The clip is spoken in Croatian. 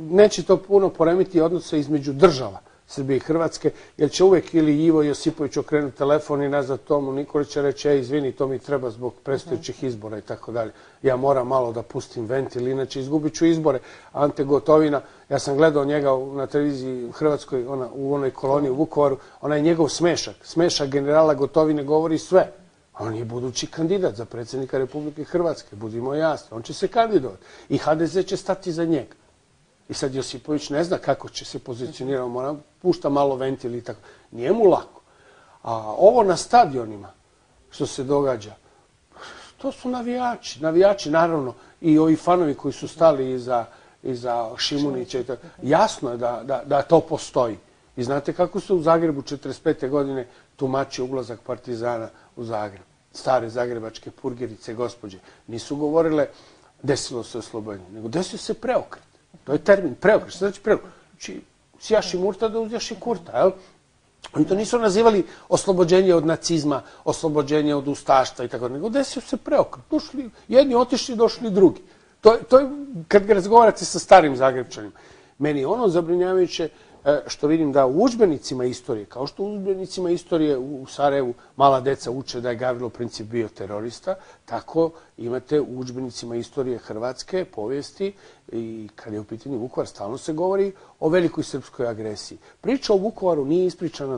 neće to puno poremiti odnose između država Srbije i Hrvatske, jer će uvek ili Ivo Josipović okrenuti telefon i nazvat Tomu Nikolića reći, izvini, to mi treba zbog predstojećih izbora i tako dalje. Ja moram malo da pustim ventil, inače izgubit ću izbore. Ante Gotovina, ja sam gledao njega na televiziji Hrvatskoj, u onoj koloniji u Vukovaru, onaj njegov smešak. Smešak generala Gotovine govori sve. On je budući kandidat za predsjednika Republike Hrvatske, budimo jasni. On će se kandidovati i HDZ će stati za njega. I sad Josipović ne zna kako će se pozicionirati, mora pušta malo ventil i tako. Nije mu lako. A ovo na stadionima što se događa, to su navijači. Navijači, naravno, i ovi fanovi koji su stali iza Šimunića. Jasno je da to postoji. I znate kako se u Zagrebu 1945. godine tumači ulazak Partizana u Zagreb. Stare zagrebačke purgerice, gospođe, nisu govorile desilo se oslobođenje, nego desio se preokret. To je termin, preokret. Šta znači preokret? Znači, sjaši Murta da uzjaši Kurta, jel? Oni to nisu nazivali oslobođenje od nacizma, oslobođenje od ustaštva i tako, nego desio se preokret. Došli, jedni otišli, došli drugi. To je, kad ga razgovarate sa starim Zagrebčanima, meni je ono zabrinjavajuće što vidim da u udžbenicima istorije, kao što u udžbenicima istorije u Sarajevu mala deca uče da je Gavrilo Princip bio terorista, tako imate u udžbenicima istorije Hrvatske, povijesti i kad je u pitanju Vukovar, stalno se govori o velikoj srpskoj agresiji. Priča o Vukovaru nije ispričana